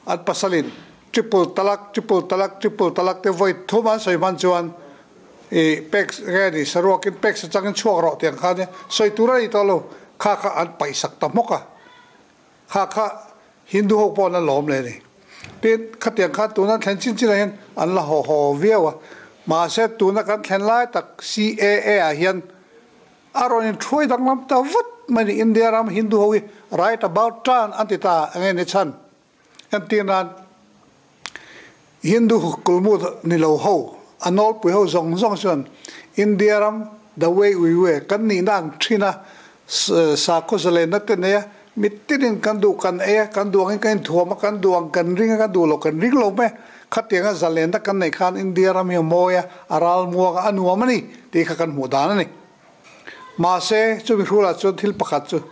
an pasalin triple talak, triple talak, triple talak te vawi thum an sawi hman chuan i pek nge ni saruakin pek sa changin chhuak rawh tiang khan nia sawi tur a ni tawh lo kha kha an paih sak ta hmawk a kha kha Hindu ho pawh an la lawm leh a ni. Tin khatiang khan tuna thlen chin chinah hian an la haw haw viau a mahse tuna kan thlen lai tak CAA ah hian A rawn inthuai danglam ta vat mai ni India ram Hindu ho hi right about turn an ti ta enge ni chhan entir nan Hindu kulmut ni lo ho a nawlpui ho zawng zawng chuan India ram the way we were kan nihna ang thin a, sakhaw zalenna te nei a, mitinin kan duh kan ei a, kan duh angin kan inthuam a, kan duh ang kan ring a, kan duh loh kan ring lo mai. Khatianga zalenna kan neih khan India ram hi a mawi a, a ralmuang a, a nuam a ni tih kha kan hmuh dan a ni. Mahse, chumi hrulah chuan thil pakhat chu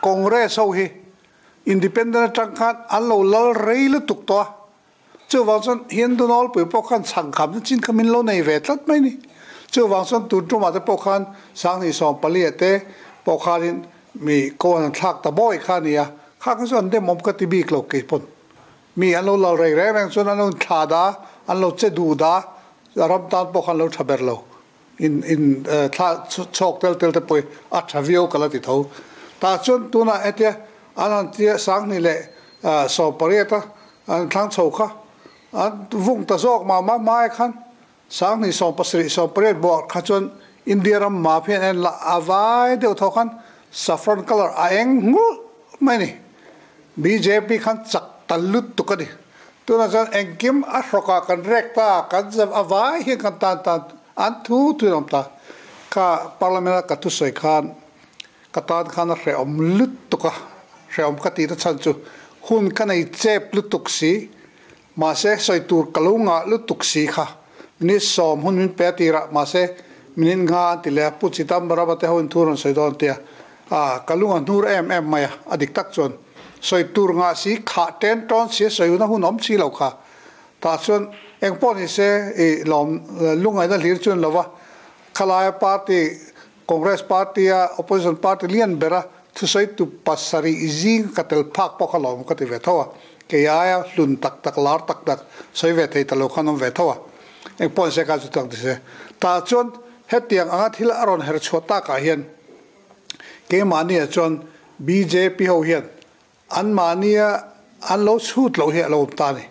Congress ho hi Independent atang khan an lo lal rei lutuk tawh a, chuvang chuan Hindu nawlpui pawh khan chhangkhamna chin kha min lo nei ve tlat mai ni. Chuvang chuan tun tumah te pawh khan Sanghnih 14 te pawh khanin mi ko an thlak ta bawi kha a ni a, kha kha chu an demawm ka ti bik lo kei pawn. Mi an lo lal rei reng reng chuan an lo inthla da, an lo che duh da, ram tan pawh khan lo tha ber lo. In in thla chhawk tel tel te pawh hi a tha viau ka la ti tho. Tah chuan tunah hetia an han tia 2018 a an thlang chho kha an vung ta zawk mah mah hmai khan 2017 18 buah kha chuan India ram map hian en la a vai deuh tho khan saffron colour a eng nghulh mai a ni. Bjp khan chak ta lutuk a ni. Tunah chuan engkim a hrawkah kan rek ta, kan zam a vai hian kan tan tan an thu thu in awm ta. Kha Parliament a ka thusawi khan ka tan khan a hrehawm lutuk a, hrehawm ka tihna chhan chu hun ka nei chep lutuk si, mahse sawi tur ka lo ngah lutuk si kha. Minute 10 hun min pe a tirah mahse minute nga an ti leh a, Pu Chidambaram a te ho in thu rawn sawi dawn tia, a ka lung a hnur em em mai a, a dik tak chuan sawi tur ngah si khah ten tawn si a sawi hun a hun awm si lo kha. Tah chuan eng pawh ni se i lawm lungaihna hlir chuan lo va, khalaia party Congress party a opposition party lian bera thusawi tu pasarih zing ka tel phak pawh kha lawm ka ti ve tho a, kei aia hlun tak tak lar tak tak sawi ve thei ta lo khan awm ve tho a, eng pawh ni se ka chu tak ti se. Tah chuan hetiang anga thil a rawn her chhuah takah hian keimahniah chuan bjp ho hian anmahnia an lo chhut loh hi a lo awm ta a ni.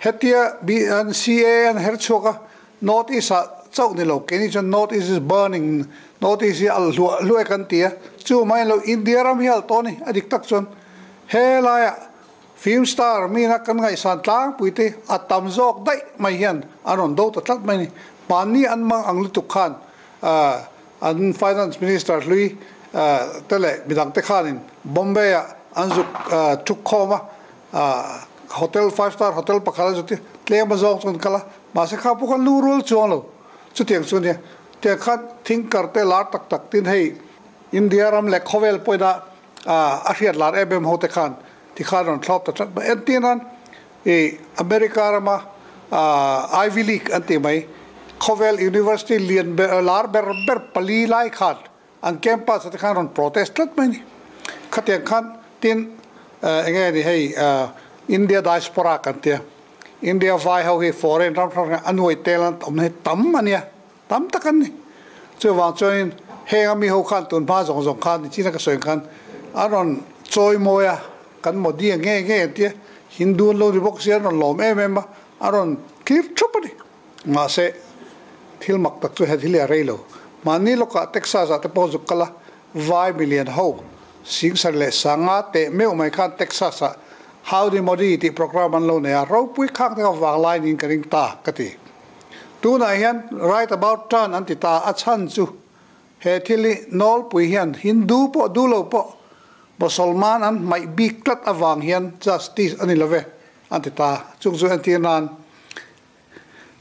Hetia CAA an her chhuak a, North East ah chauh ni lo, keini chuan North East is burning, North East hi a hluah hluai kan ti a, chu mai lo India ram hi a tawh a ni, a dik tak chuan helaiah film star mina kan ngaihsan tlangpui te a tam zawk daih mai hian an rawn do ta tlat mai a ni. Hmanni an mang ang lutuk khan An Finance Minister hlui te leh midang te khanin Bombay ah an zuk thuk khawm a, hotel five star hotel pakhat an zuk te tlem a zawng chu an kal a, mahse kha pawh khan lu rual chuang lo chutiang chu ania. Tiang khan thinker te lar tak tak tin hei India ram leh khawvel pawhin a hriat lar em em ho te khan tikhan rawn thlawp ta tlat mai. Entir nan I America rama Ivy League an tih mai, khawvel university lian ber lar ber ber pali lai khan an campus ah te khan rawn protest tlat mai a ni. Khatiang khan tin eng nge ni hei India diaspora kan tia, India vai ho hi foreign ram hrang hrang a nuai tel an awm hi tam a nia, tam tak an ni. Chuvang chuanin heng a mi ho khan tun hma zawng zawng khan nichina ka sawi ang khan an rawn chawi mawi a, Kan Modi a nge nge an tia, Hindu an lo ni bawk sia an rawn lawm em em a, a rawn clear thup a ni. Mahse, thil mak tak chu he thil hi a rei lo. Mahni lawkah Texas ah te pawh zuk kal a, vai milian ho Singsar leh Sanga teh meuh mai khan Texas ah Howdy Modi tih program an lo nei a, ropui khak te kha vanglai niin ka ring ta ka ti. Tunah hian right about turn an ti ta, a chhan chu He thil hi nawlpui hian Hindu pawh duh lo pawh Mosolman an hmaih bik tlat avang hian justice a ni lo ve an ti ta. Chung chu entir nan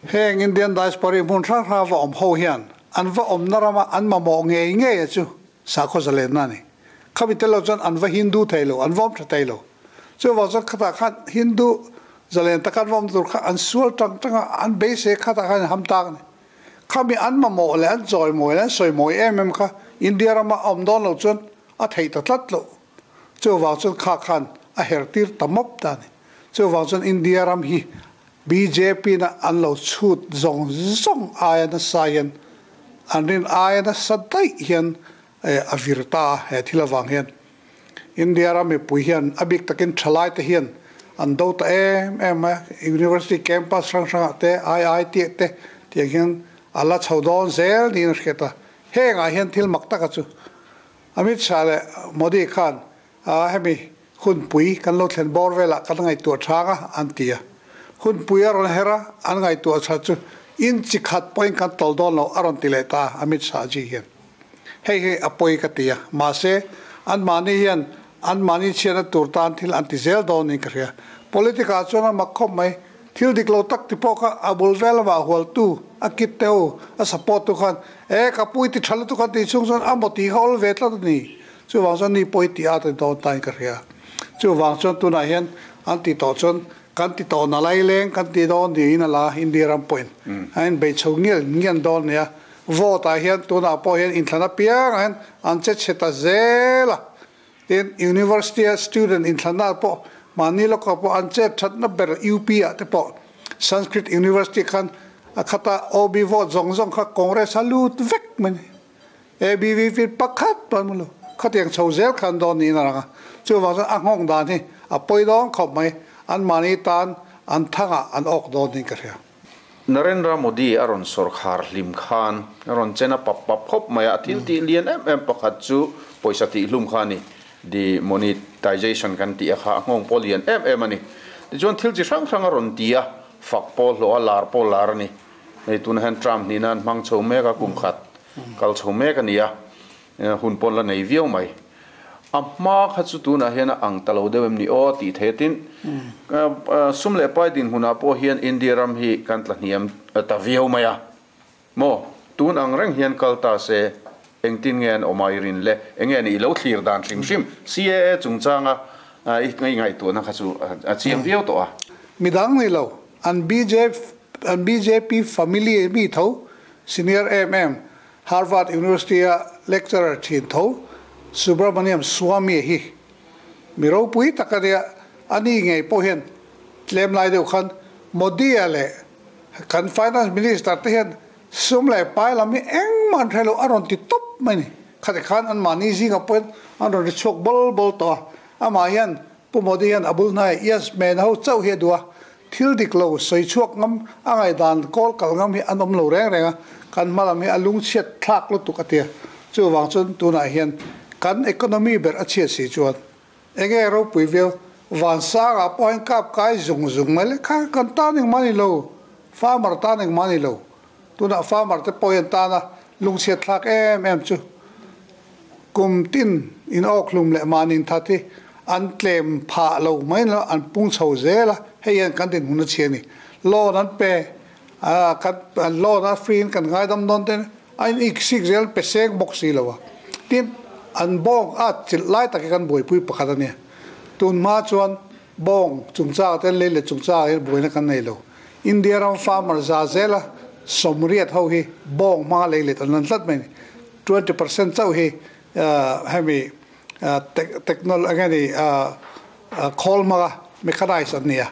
heng Indian diaspora hmun hrang hranga va awm ho hian an va awmna rama an mamawh ngei ngei a chu sakhaw zalenna a ni. Khami tel lo chuan an va Hindu thei lo, an va awm tha thei lo. Chuvang chuan khatah khan Hindu zalen taka an va awm tur kha an sual tang tang a, an beisei khatah khan an ham tak a ni. Khami an mamawh leh an chawimawi leh an sawimawi em em kha India rama a awm dawn lo chuan a theih ta tlat loh. Chuvang chuan kha khan a her tir ta mawp ta a ni. Chuvang chuan India ram hi bjp na an lo chhut zawng zawng aia nasa hian an rin aia nasa daih hian a vir ta a he thil avang hian. India ram mipui hian a bik takin thalai te hian an do ta em em a, University campus hrang hrangah te, IIT ah te tiang hian a la chho dawn zel niin a hriat a. Hengah hian thil mak taka chu Amit Shah leh Modi khan hemi hunpui kan lo thlen bawr velah kan ngaihtuah chang a an ti a. Hunpui a rawn her a, an ngaihtuah chhan chu Inch khat pawhin kan tawlh dawn lo a rawn ti leh ta Amit Shah ji hian. Hei hi a pawi ka ti a, mahse anmahni hian anmahni chhiatna tur tan thil an ti zel dawn niin ka hria. Politic ah chuan a mak khawp mai, thil dik lo tak ti pawh kha a bul vel lamah hualtu a kit te ho a support tu khan e ka pui ti tha lutuk an tih chhung chuan a maw tih kha awl ve tlat a ni. Chuvang chuan ni pawh hi tih at a ni dawn tain ka hria. Chuvang chuan tunah hian an ti tawh chuan Kan ti tawh na lai leng kan ti dawn niin a la India ram pawhin a inbei chho ngial ngian dawn a nia. Vote ah hian tunah pawh hian inthlan apiangah hian an che chhe ta zel a. Tin, University a student inthlanna ah pawh mahni lawkah pawh an chet thatna ber UP ah te pawh Sanskrit University khan a khata OB vote zawng zawng kha Congress a lut vek mai a ni. ABVP pakhat pawh an hmu lo. Khatiang chho zel khan dawn niin a lang a. Chuvang chuan a nghawng dan hi a pawi dawn khawp mai. Anmahni tan an thangah an awk dawn niin ka hria. Narendra Modi a rawn sawrkhar hlim khan a rawn chen a pap pap khawp mai a. A thil tih lian em em pakhat chu pawisa tih hlum kha a ni. Demonetization kan tih a kha a nghawng pawh lian em em a ni. Tichuan thil chi hrang hrang a rawn ti a, fak pawh hlawh a, lar pawh lar a ni. Hei tunah hian term hnihna an hmang chho mek a, kum khat kal chho mek a ni a, hun pawn la nei viau mai. A hma kha chu tunah hian a ang ta lo deuh em ni aw tih theih a tin sum leh pai dinhmunah pawh hian India ram hi kan tla hniam ta viau mai a maw? Tun ang reng hian kal ta se engtin nge an awm a i rin le? Enge ni i lo thlir dan hrim hrim CAA chungchanga i ngaihtuahna kha chu a chiang viau tawh a. Midang ni lo, an BJP An bjp family mi tho, senior em em, Harvard University a lecturer thin tho, Subramaniam Swamy hi mi ropui tak a nia, a ni ngei pawh hian tlem lai deuh khan Modi-a leh kan Finance Minister te hian sum leh pai lam hi engmah an hre lo a rawn ti tawp mai ni. Khati khan anmahni zingah pawhin an rawn ri chhuak bawl bawl tawh a, amah hian Pu Modi hian a bul hnai Yes Man ho chauh hi a duh a, thil dik lo sawi chhuak ngam a ngaihdan kawl kal ngam hi an awm lo reng reng a, kan hma lam hi a lungchhiat thlak lutuk a tia. Chuvang chuan tunah hian kan economy ber a chhiat si chuan enge ropui viau vansangah pawh hian kap kai zung zung mai le kha kan tan engmah ni lo, farmer tan engmah ni lo. Tunah farmer te pawh hian tana lungchhiat thlak em em chu Kum tin in awkhlum leh mahni that hi an tlem phah lo mai lo, an pung chho zel a, hei hian kan dinhmun a chhia a ni. Loan an pe a, kan loan a free in kan ngaidam dawn te a in ik sik zel pe seng bawk si lo a. Tin, an bawng a chilh lai tak hi kan buaipui pakhat a nia. Tun hma chuan bawng chungchang te lei leh chungchang hi buaina kan nei lo. India ram farmer za zela sawmriat ho hi bawng hmanga lei let an lan tlat mai a ni. 20% chauh hi hemi technology enge ni khawl hmanga mechanized an ni a.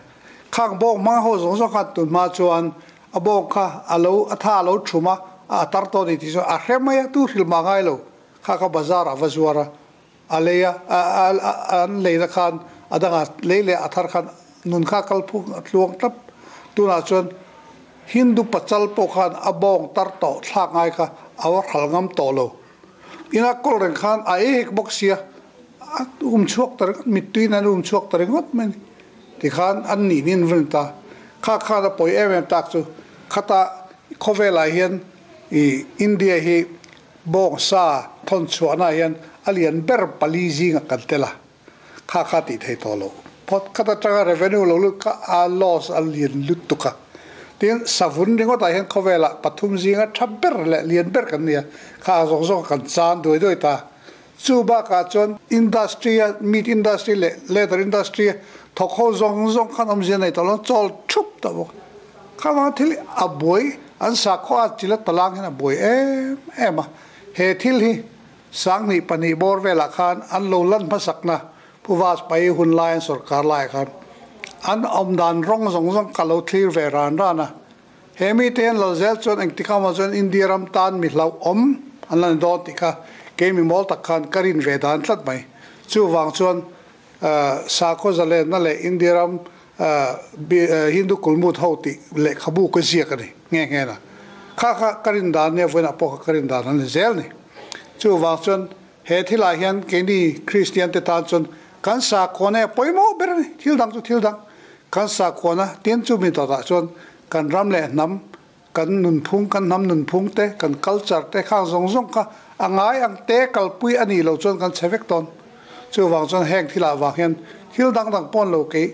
Khang bawng hmanga ho zawng zawng khan tun hma chuan a bawng kha a lo a tha a lo thum a, a tar tawh a ni tih chu a hre mai a, tu hrilh mah ngai lo. Kha kha bazar ah va zuar a, a lei a, an leina khan a dangah lei leh a thar khan nun kha a kal phung a tluang tlat. Tunah chuan Hindu pachal pawh khan a bawng tar tawh thlak ngai kha a va hral ngam tawh lo. Ina kawl reng khan a ei hek bawk sia, a um chhuak ta ringawt, mittui in an um chhuak ta ringawt mai a ni. Tikhan an nih nin rin ta. Kha khan a pawi em em tak chu khata khawvelah hian i India hi bawng sa thawn chhuahna hian a lian ber pali zingah kan tel a. Kha kha tih thei tawh lo. Phawt khat atanga revenue lo lut kha a loss a lian lutuk a. Tin, savun ringawtah hian khawvelah pathum zinga tha ber leh lian ber kan ni a, kha zawng zawng kan chan duai duai ta. Chu bakah chuan industry a meat industry leh leather industry a thawk ho zawng zawng khan awmzia nei tawh lo, chawl thup tawh bawk. Kha vanga thil a buai, an sakhaw a chila talang hian a buai em em a. He thil hi Sanghnih pahnih bawr velah khan an lo lan hmasakna Pu Vajpayee hun lai an sawrkar laiah khan an awm dan rawng zawng zawng ka lo thlir ve ran ran a. He mite hian Lalzel chuan engtik amaw chuan India ram tan mi hlauhawm an la ni dawn tih kha kei mi mawl tak khan ka rin ve dan tlat mai. Chuvang chuan sakhaw zalenna leh India ram Hindu kulmut ho tih lehkhabu ka ziak a ni nghe nghe na. Kha kha ka rin dan nia vawiinah pawh kha ka rin dan a ni zel ni. Chuvang chuan he thilah hian keini Kristian te tan chuan kan sakhuana hi a pawimawh ber a ni, thil dang chu thil dang. Kan sakhuana tin chu mi dawtah chuan kan ram leh hnam kan nunphung, kan hnam nunphung te, kan culture te khang zawng zawng kha a ngai ang te kalpui a nih loh chuan kan chhe vek dawn. Chuvang chuan heng thilah vang hian thil dang dang pawn lo kei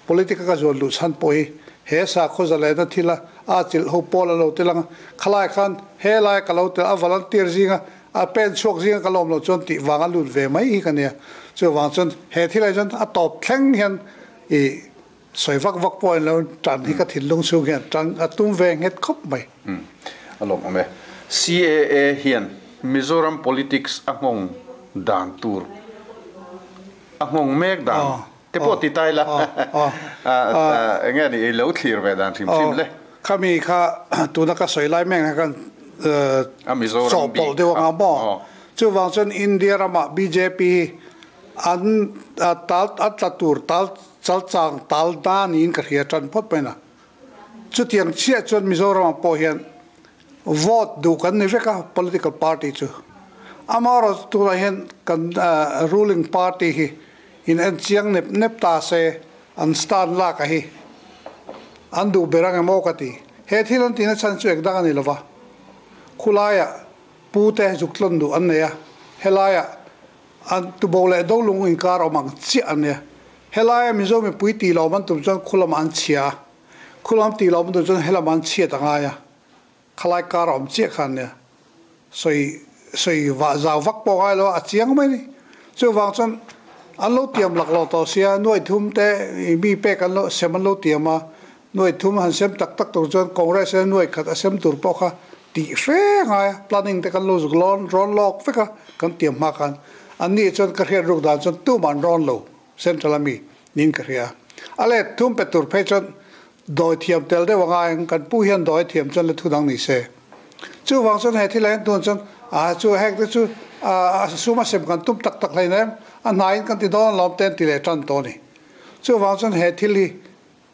politic a ka zuan luh chhan pawh hi he sakhaw zalena thila a chilh ho pawl a lo tel ang a, khalai khan he lai ka lo tel a volunteer zinga a pen chhuak zinga ka lawm loh chuan tih vang a lut ve mai hi ka nia. Chuvang chuan he thilai chuan a tawp thleng hian i Sawi vak vak pawh in lo tan hi ka thinlung chhung hian tan a tum ve nghet khawp mai. Umm a lawm awm e. CAA hian Mizoram politics a nghawng dan tur a nghawng mek dan te pawh ti ta ila eng nge ni i lo thlir ve dan hrim hrim le. Khami kha tuna ka sawi lai mek khan chawhpawlh deuh anga maw? Chuvang chuan India ramah bjp hi an tal an tla tur tal Chalchang tal da niin ka hria tan phawt mai na. Chutiang chiah chuan Mizoramah pawh hian vote duh kan ni vek a, political party chu. Amaherawhchu tunah hian kan ruling party hi in en chiang nep nep ta se an stand lak a hi an duh ber ang em aw ka ti. He thil an tihna chhan chu engdang a ni lova, khulaiah pu te zuk tlawn duh an nei a, helaiah An tubo leh dolung inkar awm ang chiah an nia. Helaia Mizo mipui tih lo awm an tum chuan khu lamah an chhia a, khu lam tih lo awm an tum chuan helamah an chhiat a ngai a, khalai kar awm chiah kha an nia. Sawi sawi vah zau vak pawh ngai lo a, a chiang mai a ni. Chuvang chuan an lo tiam lak lo tawh sia, nuai thum te mi pek an lo sem an lo tiam a, Nuai thum han sem tak tak tur chuan Congress hian nuai khat a sem tur pawh kha tih hre ngai a, planning te kan lo zuk lawn rawn lawk vek a, kan tiam hma khan an nih chuan ka hriat ruk dan chuan tumah an rawn lo central a mi niin ka hria. A let thum pe tur phei chuan dawi thiam tel deuh a ngai ang, kan pu hian dawi thiam chuan la thu dang ni se. Chuvang chuan he thil ah hian tun chuan a chu heng te chu a sum a sem kan tum tak tak hleinem a hnaiin kan ti dawn alawm te an ti leh tan tawh a ni. Chuvang chuan he thil hi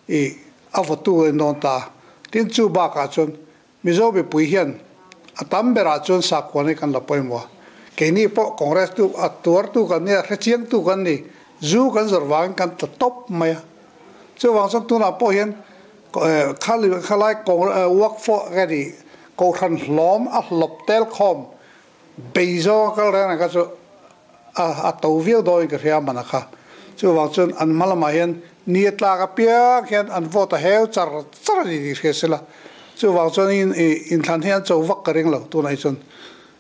I a vawtu in dawn ta. Tin chu bakah chuan Mizo mipui hian a tam berah chuan sakhuan hi kan la pawimawh a. Keini pawh Congress tu a tuartu kan ni a, hrechiangtu kan ni. Zu kan zawrh vangin kan tla tawp mai a. Chuvang chuan tunah pawh hian khalai work for nge ni Kohhran hlawm a hlawp tel khawm bei zawng a kal reng reng kha chu a to viau dawin ka hria mana kha. Chuvang chuan an hma lamah hian ni a tlak apiang hian an vote a heu char char a ni tih hria sela. Chuvang chuan inthlan hi an cho vak ka ring lo tunah hi chuan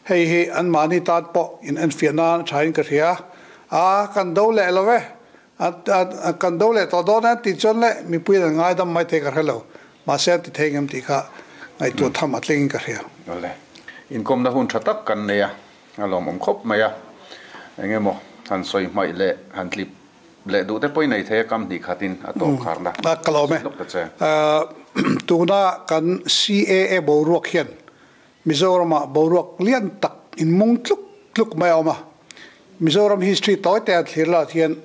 hei hi anmahni tan pawh in enfiah nan a thain ka hria a, kan do leh lo e, kan do leh tawh dawn e an tih chuan leh mipui an ngaidam mai thei ka hre lo. Mahse an ti thei ngem tih kha ngaihtuah tham a tlingin ka hria. Awle, inkawmna hun tha tak kan nei a. A lawmawm khawp mai a, eng emaw han sawi hmaih leh han tlip leh duh te pawh i nei thei a, kam hnih khatin a tawp kharna Ka lawm e. lawk ta che. Tuna kan CAA boruak hian Mizoramah boruak lian tak inmung tluk tluk mai a awm a. Mizoram history tawi te a thlir lah hian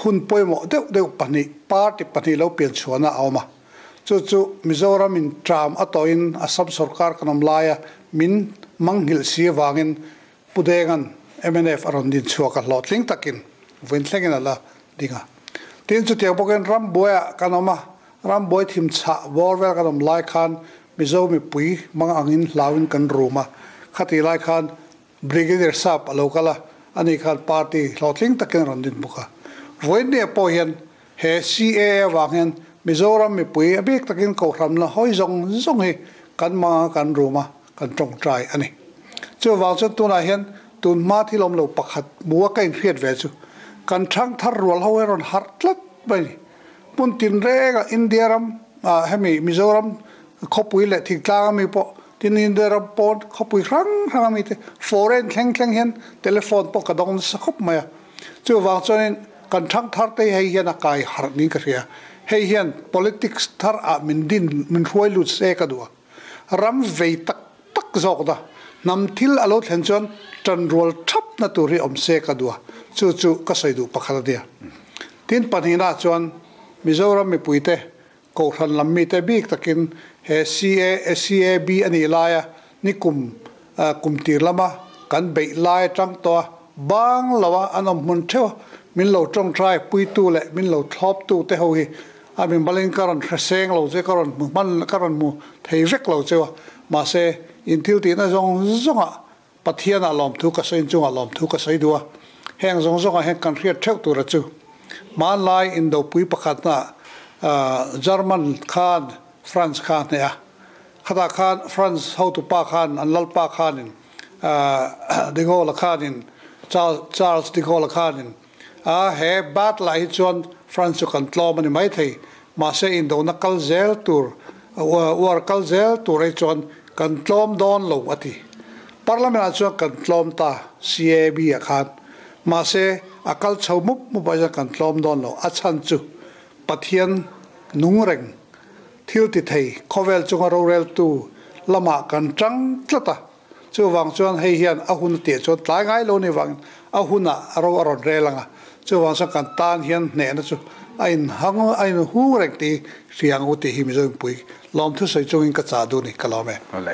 hun pawimawh deuh deuh pahnih, party pahnih lo pian chhuahna a awm a. Chu chu Mizoram in tram a tawhin Assam sorkar kan awm laia min mangnghilh si avangin Pu Denga'n mnf a rawn din chhuak a, hlawhtling takin vawiin thlengin a la ding a. Tin, chutiang bawkin rambuaiah kan awm a, rambuai thim chhah bawr vel kan awm lai khan Mizo mipui mang angin hlauin kan rum a, khatih lai khan Brigadier Sap a lo kal a, ani khan party hlawhtling takin a rawn din bawk a. Vawiinniah pawh hian he CAA avang hian Mizoram mipui a bik takin Kohhran la hawi zawng zawng hi kan mang a, kan rum a, kan tawngtai a ni. Chuvang chuan tunah hian tun hma thil awm lo pakhat hmu a ka inhriat ve chu kan thang thar rual ho hi a rawn harh tlat mai a ni. Hmun tinrengah India ram ah hemi Mizoram khawpui leh thingtlang ami pawh Tin India ram pawn khawpui hrang hrang ami te foreign thleng thleng hian telephone pawh ka dawng nasa khawp mai a. Chuvang chuanin kan thang thar te hi hei hian a kai harh niin ka hria. Hei hian politics thar ah min din min hruai lut se ka duh a. Ram vei tak tak zawk na hnam thil a lo thlen chuan tanrual thap na tur hi awm se ka duh a. Chu chu ka sawi duh pakhat a nia. Tin pahnihna chuan Mizoram mipuite Kohhran lam mite bik takin he CACAB a nih laia nikum kum tir lama kan beih lai atang tawh a, bang loa an awm hmun theuh a, min lo tawngtai puitu leh min lo thlawptu te ho hi A min balin ka rawn hre seng lo che, ka rawn hmu hman, ka rawn hmu thei vek lo cheu a. Mahse, in thil tihna zawng zawngah Pathianah lawmthu ka sawi chungah lawmthu ka sawi duh a. Heng zawng zawngah hian kan hriat theuh tura chu hmanlai indopui pakhatna German khan France kha a hneh a. Khatah khan France hotupa khan an lalpa khanin De Gaulle khanin Charles De Gaulle khanin a he battle ah hi chuan France chu kan tlawm a ni maithei mahse indona kal zel tur war kal zel tur hi chuan kan tlawm dawn lo a ti. Parliament ah chuan kan tlawm ta CAB ah khan mahse a kal chho mup mup ah hian kan tlawm dawn lo a chhan chu Pathian nung reng thil ti thei khawvel chunga roreltu lamah kan tang tlat a. Chuvang chuan hei hian a hun a tih chuan tlai ngai lo ni vangin a hunah a ro a rawn rel ang a, chuvang chuan kan tan hian hnehna chu a inhang a inhung reng tih hria ang u tih hi Mizo inpui lawmthu sawi chungin ka chah duh ni ka lawm e. Awle.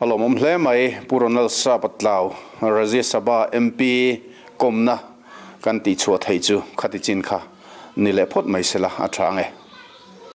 A lawmawm hle mai Pu Ronald Sapatlau, Rajya Sabha MP kawmna kan tihchhuah theih chu khati chin kha ni leh phawt mai sela a tha ang e.